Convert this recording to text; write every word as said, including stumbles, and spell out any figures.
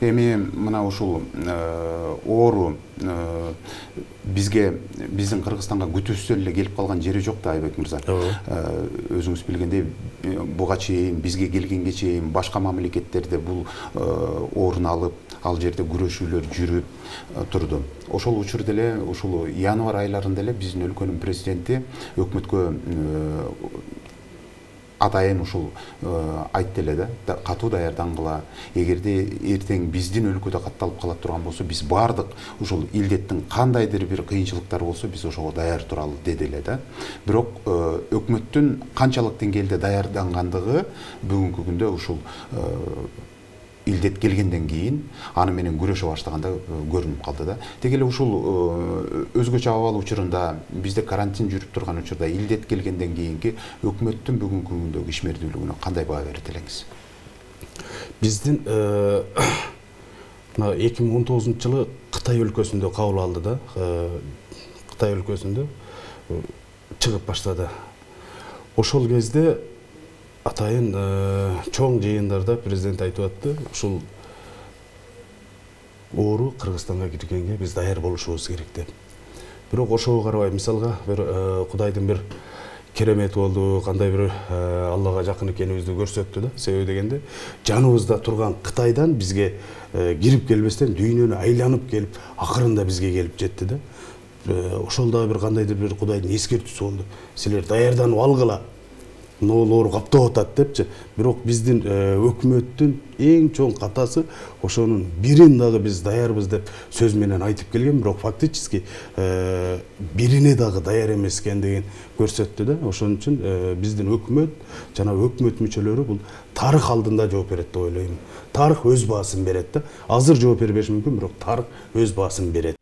Эми мына ушул оору бизге биздин Кыргызстанга күтүүсүз эле келип калган жери жок да, Айбек мырза. Өзүңүз билгендей, буга чейин бизге келгенге чейин башка мамлекеттерде бул ооруну алып, ал жерде күрөшүүлөр жүрүп турду. Ошол учурда эле ушул январь айларында эле биздин өлкөнүн президенти өкмөткө атайын ушул айтты эле да, катуу даярдангыла. Эгерде эртең биздин өлкөдө катталып кала турган болсо, биз бардык ушул илдеттин кандайдыр бир кыйынчылыктары болсо, биз ошого даяр туралы деди эле да. Бирок өкмөттүн канчалык деңгээлде даярдангандыгы бүгүнкү күндө ушул илдет келгенден кийин аны менен күрөшө баштаганда көрүнүп калды да. Деги эле ушул өзгөчө абал учурунда, бизде карантин жүрүп турган учурда илдет келгенден кийинки өкмөттүн бүгүнкү күндөгү ишмердүүлүгүнө кандай баа берет элеңиз? Биздин мына эки миң он тогузунчу жылы Кытай өлкөсүндө кабыл алды да. Кытай өлкөсүндө чыгып баштады. Ошол кезде атайын чоң жыйындарда президент айтып атты, ушул оору Кыргызстанга киргенге биз даяр болушубуз керек деп. Бирок ошого карабай, мисалга бир Кудайдын бир керемети болду, кандай бир Аллага жакын экенибизди көрсөттү да. Себеби дегенде, жаныбызда турган Кытайдан бизге кирип келбестен дүйнөнү айланып келип, акырында бизге келип жетти да. Ошол да бир кандайдыр бир Кудайдын эскертүүсү болду. Силер даярданып алгыла. Ноол оору каптап атат депчи. Бирок биздин өкмөттүн эң чоң катасы ошонун бирин дагы биз даярбыз деп сөз менен айтып келген, бирок фактически бирине дагы даяр эмес экендигин көрсөттү да. Ошон үчүн биздин өкмөт жана өкмөт мүчөлөрү бул тарых алдында жооп берет деп ойлойм. Тарых өз баасын берет да. Азыр жооп бербеши мүмкүн, бирок тарых өз баасын берет.